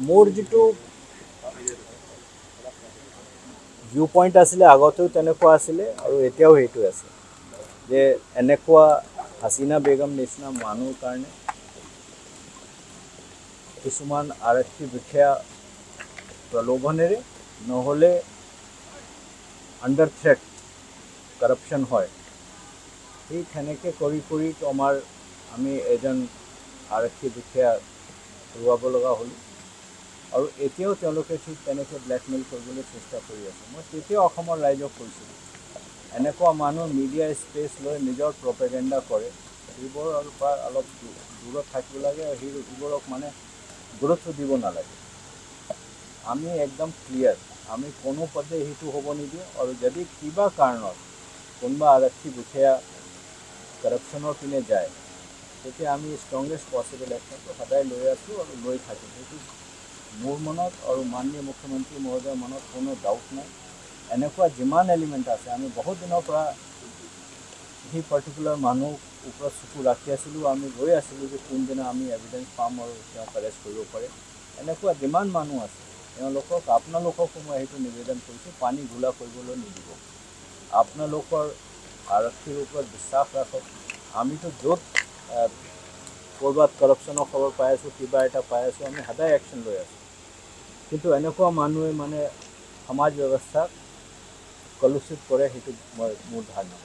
মোৰ যিটো view point আছিলে, আগতেও তেনেকুৱা আছিলে আৰু এতিয়াও সেইটোৱে আছে যে এনেকুৱা হাছিনা বেগম নিচিনা মানুহৰ কাৰণে কিছুমান আৰক্ষী বিষয়া প্ৰলোভনেৰে নহ'লে আণ্ডাৰ থ্ৰেট কৰাপশ্যন হয়। সেই তেনেকৈ কৰি কৰি আমাৰ আমি এজন আৰক্ষী বিষয়া হেৰুৱাব লগা হ'লোঁ আৰু এতিয়াও তেওঁলোকে ঠিক তেনেকৈ ব্লেকমেইল কৰিবলৈ চেষ্টা কৰি আছে। মই তেতিয়াও অসমৰ ৰাইজক কৈছিলোঁ, এনেকুৱা মানুহ মিডিয়া স্পেচ লৈ নিজৰ প্ৰপেগেণ্ডা কৰে, সেইবোৰ আৰু পৰা অলপ দূৰত থাকিব লাগে আৰু সেইবোৰক মানে গুৰুত্ব দিব নালাগে। আমি একদম ক্লিয়াৰ, আমি কোনো পদে সেইটো হ'ব নিদিওঁ। আৰু যদি কিবা কাৰণত কোনোবা আৰক্ষী বিষয়া কৰাপশ্যনৰ পিনে যায়, তেতিয়া আমি ষ্ট্ৰংগেষ্ট পচিবল একশ্যনটো সদায় লৈ আছোঁ আৰু লৈ থাকিম। সেইটো মোৰ মনত আৰু মাননীয় মুখ্যমন্ত্ৰী মহোদয়ৰ মনত কোনো ডাউট নাই। এনেকুৱা যিমান এলিমেণ্ট আছে, আমি বহুত দিনৰ পৰা সেই পাৰ্টিকুলাৰ মানুহ ওপৰত চকু ৰাখি আছিলোঁ। আমি ৰৈ আছিলোঁ যে কোনদিনা আমি এভিডেঞ্চ পাম আৰু তেওঁক এৰেষ্ট কৰিব পাৰে। এনেকুৱা যিমান মানুহ আছে, তেওঁলোকক, আপোনালোককো মই সেইটো নিবেদন কৰিছোঁ, পানী ঘোলা কৰিবলৈ নিদিব। আপোনালোকৰ আৰক্ষীৰ ওপৰত বিশ্বাস ৰাখক। আমিতো য'ত ক'ৰবাত কৰাপশ্যনৰ খবৰ পাই আছোঁ, কিবা এটা পাই আছোঁ, আমি সদায় একশ্যন লৈ আছোঁ। কিন্তু এনেকুৱা মানুহে মানে সমাজ ব্যৱস্থাক কলুষিত কৰে, সেইটো মই মোৰ ধাৰণা।